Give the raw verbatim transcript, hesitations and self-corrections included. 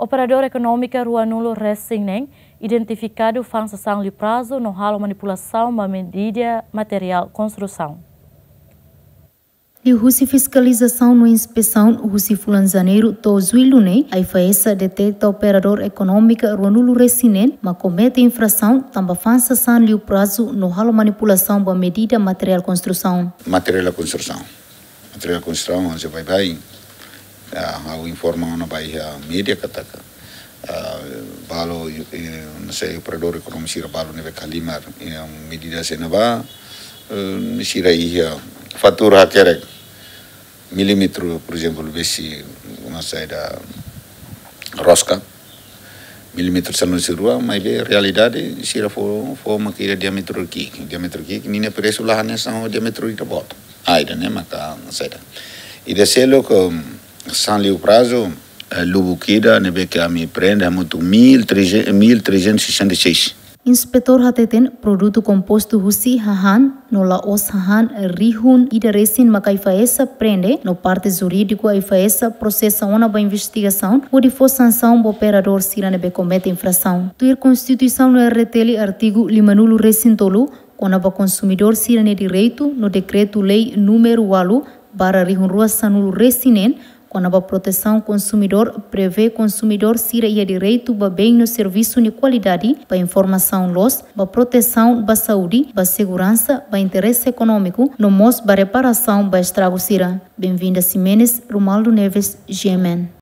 Operadór ekonómika ruanulu resin neen identifikadu fa'an sasán liu prazu no halo manipulasaun ba medida materiál konstrusaun. Liuhusi fiskalizasaun no inspesaun husi fulan Janeiru to'o Jullu ne'e, AIFAESA deteta operadór ekonómika ruanulu resin neen mak komete infrasaun tanba fa'an sasán liu prazu no halo manipulasaun ba medida materiál konstrusaun. Materiál konstrusaun. Materiál konstrusaun, hanesan baibain, ah, ha'u informa ona ba iha média katak, ah, balu, eh, hanesan operadór ekonómika sira balu ne'ebé halimar, eh, medida sira-ne'ebá, eh, sira iha fatura hakerek milímetru, por ezemplu, besi, hanesan ida roska, milímetru sanulu-resin-rua, maibé realidade sira fó, fó mak iha diámetru ki'ik, diámetru ki'ik, ninia presu la hanesan ho diámetru ida-boot. Ah, ida-ne'e maka saida. Ida seluk, sasán liu prazu, eh, lubuk ida ne'ebé ke ami prende hamutuk mil trezentos, mil trezentos e sessenta e seis. Inspetór hateten produtu kompostu husi hahán no la'ós hahán rihun ida resin mak AIFAESA prende no parte jurídiku AIFAESA prosesa ona ba investigasaun hodi fó sansaun ba operadór sira ne'ebé komete infrasaun. Tuir Konstituisaun no R D T L artigu limanulu-resin-tolu, kona-ba konsumidór sira-nia direitu no dekretu-lei númeru ualu barra rihun rua sanulu-resin-neen, kona-ba protesaun konsumidór, prevee konsumidór sira iha direitu ba been no servisu nia kualidade, ba informasaun loos, ba protesaun, ba saúde, ba seguransa, ba interese ekonómiku, no mós ba reparasaun ba estragu sira. Benvinda Ximenes, Romualdo Neves, G M N.